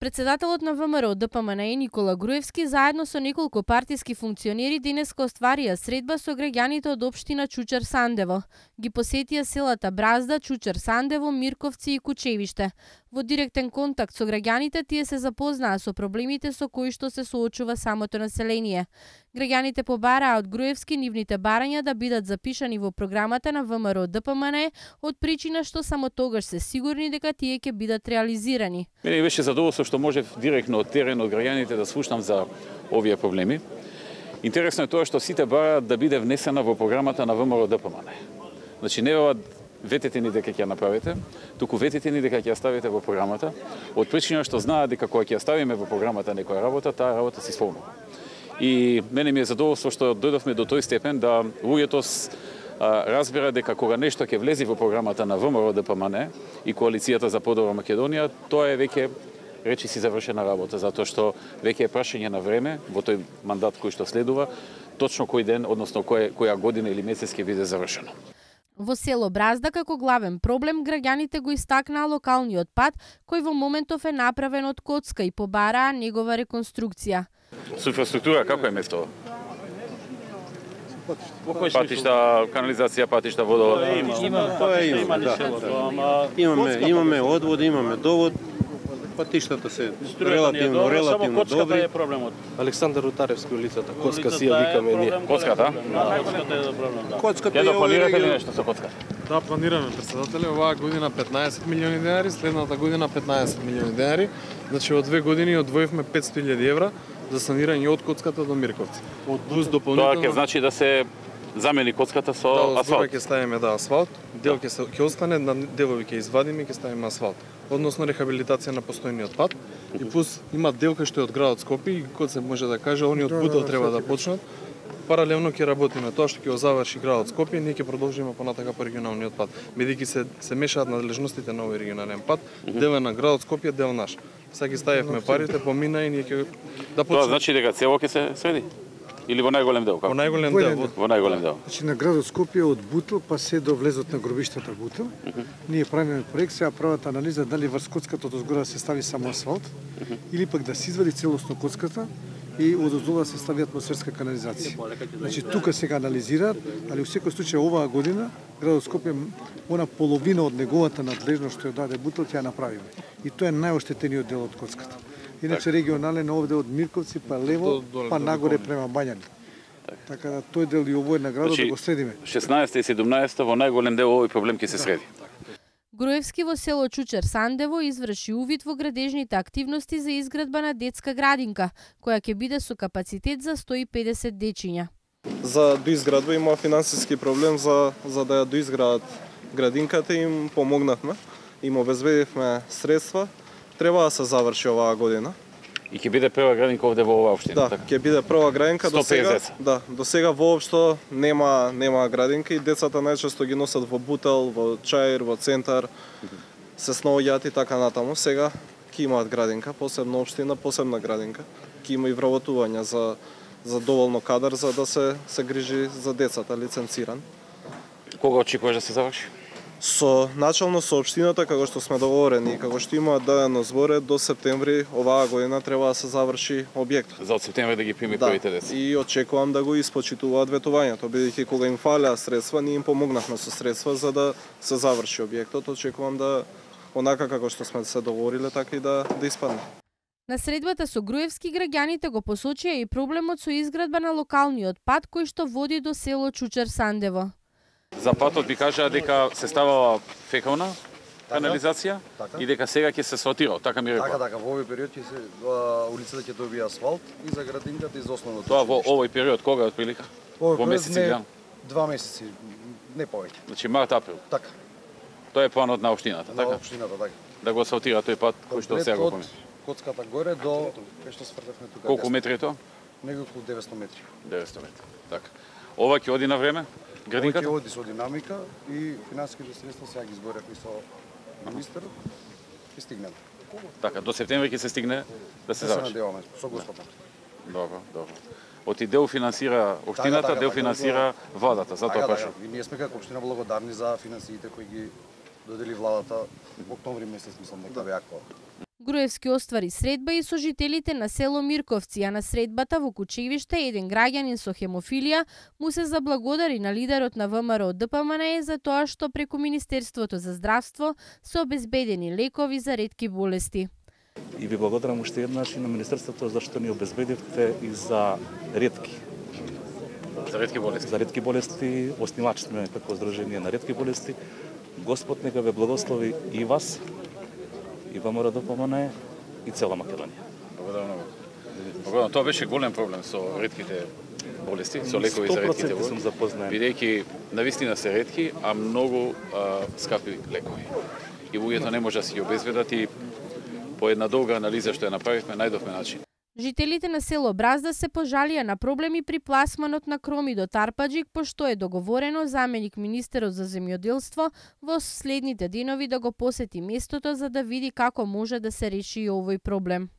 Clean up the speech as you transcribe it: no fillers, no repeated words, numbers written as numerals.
Председателот на ВМРО ДПМНЕ Никола Груевски заедно со неколку партиски функционери денеска остварија средба со граѓаните од општина Чучер Сандево. Ги посетија селата Бразда, Чучер Сандево, Мирковци и Кучевиште. Во директен контакт со граѓаните тие се запознаа со проблемите со кои што се соочува самото население. Граѓаните побараа од Груевски нивните барања да бидат запишани во програмата на ВМРО ДПМНЕ од причина што само тогаш се сигурни дека тие ќе бидат реализирани. Мене беше задоволство што можев директно од терен од граѓаните да слушнам за овие проблеми. Интересно е тоа што сите бараат да биде внесена во програмата на ВМРО ДПМНЕ. Значи не ветете ни дека ќе ја направите, туку ветете ни дека ќе ја ставите во програмата, од причина што знаат дека кога ќе ја ставиме во програмата некоја работа, таа работа се исполнува. И мене ми е задоволство што дојдовме до тој степен да луѓето разбира дека кога нешто ќе влезе во програмата на ВМРО ДПМНЕ и коалицијата за подобра Македонија, тоа е веќе речи си завршена работа, затоа што веќе е прашање на време во тој мандат кој што следува, точно кој ден, односно која година или месец ќе биде завршено. Во село Бразда како главен проблем граѓаните го истакнаа локалниот пат кој во моментов е направен од коцка и побараа негова реконструкција. Со инфраструктура како е местото? Патишта, канализација, патишта, водовод. Имаме одвод, имаме довод. Патиштата се релативно добри. Е проблемот. Александар Рутаревски улицата, коцка си ја викаме ние. Коцката? Коцката е проблемот. Коцката ја планирате ли нешто со коцката? Да, планираме, председателе, оваа година 15 милиони денари, следната година 15 милиони денари. Значи во 2 години одвоивме 500.000 евра за санирање од коцката до Мирковци. Плюс дополнително. Тоа ќе значи да се замени коцката со асфалт. Ќе ставиме асфалт, дел ќе остане, на делови ќе извадиме и ќе ставиме асфалт. Односно рехабилитација на постојниот пат и плюс има дел кој што е од градот Скопје и кој се може да каже они од Бутел треба да почнат. Паралелно ќе работиме тоа што ќе го заврши градот Скопје, ние ќе продолжиме понатака по регионалниот пат. Бидејќи се мешаат надлежностите на овој регионален пат, дел е на градот Скопје, дел наш. Сега ги ставивме парите, помина и ние ќе да почнеме. Тоа значи дека цело ќе се среди? Или во најголем дел? Во најголем дел. Во најголем дел. Значи на градот Скопје од Бутел па се до влезот на гробиштата Бутел. Ние правиме проект, сега прават анализа дали врз коцката од озгора се стави само асфалт или пак да се извади целосно коцката и од оздолу се стави атмосферска канализација. Значи тука сега анализираат, али во секој случај оваа година градот Скопје она половина од неговата надлежност што ја даде Бутел ќе ја направиме. И тоа е најоштетениот дел од коцката. Иначе регионален овде од Мирковци па лево, па нагоре према Бањани. Така да тој дел и овој на градот да го следиме. 16 и 17 во најголем дел овој проблем ќе се среди. Груевски во село Чучер Сандево изврши увид во градежните активности за изградба на детска градинка, која ќе биде со капацитет за 150 дечиња. За доизградба има финансиски проблем за да ја доизградат градинката, им помогнавме, им обезбедивме средства. Треба да се заврши оваа година. И ќе биде прва градинка овде во оваа општина, да, така? Ќе биде прва градинка. До сега воопшто нема градинка и децата најчесто ги носат во Бутел, во Чаир, во центар, се снаоѓаат и така натаму. Сега ќе имаат градинка, посебна општина, посебна градинка. Ќе има и вработување за доволно кадар за да се грижи за децата, лиценциран. Кога очекуваш да се заврши? Начално со општината, како што сме договорени, како што имаат дадено зборе, до септември оваа година треба да се заврши објектот. За од септември да ги прими првите деца. И очекувам да го испочитуваат ветувањето, бидејќи кога им фалеа средства, ние им помогнавме со средства за да се заврши објектот. Очекувам да онака како што сме се договориле, така и да испадне. На средбата со Груевски граѓаните го посочија и проблемот со изградба на локалниот пат кој што води до село Чучер Сандево. За патот ви кажаа дека се ставала фекална канализација и дека сега ќе се асфалтира, така ми рекоа. Така, во овој период ќе се улицата ќе добие асфалт и за градинката и за основното. Тоа во овој период кога отприлика? Во месеци гран? 2 месеци, не повеќе. Значи март април. Така. Тоа е планот на општината, така? На општината, така. Да го асфалтира тој пат кој што сега го помени. Коцката горе до кај што свртевме тука. Колку метри е тоа? Неколку 900 метри. 900 метри. Така. Ова ќе оди на време? Градинката? Ова ќе оди со динамика и финансиските средства сега ги зборевме со министерот и стигнеме. Така, до септември ќе се стигне да се заврши. Се надеваме со Господа. Добро. Оти дел финансира општината, дел финансира владата, затоа прашам. И ние сме како општина благодарни за финансиите кои ги додели владата октомври месец, мислам дека беа. Груевски оствари средба и со жителите на село Мирковци, а на средбата во Кучевиште еден граѓанин со хемофилија му се заблагодари на лидерот на ВМРО ДПМНЕ за тоа што преку Министерството за здравство се обезбедени лекови за ретки болести. И ви благодарам уште еднаш и на Министерството зашто ни обезбедивте и за ретки. За ретки болести. За ретки болести, оснивач сме како Здружение на ретки болести. Господ нека ве благослови и вас, и ВМРО ДПМНЕ, и цела Македонија. Благодарам многу. Благодарам. Тоа беше голем проблем со ретките болести, со лекови за ретките болести. Сум запознаен. Бидејќи навистина се ретки, а многу скапи лекови. И луѓето не може да си ги обезбедат и по една долга анализа што ја направивме, најдовме начин. Жителите на село Бразда се пожалија на проблеми при пласманот на кроми до Тарпаџик, пошто е договорено заменик министерот за земјоделство во следните денови да го посети местото за да види како може да се реши овој проблем.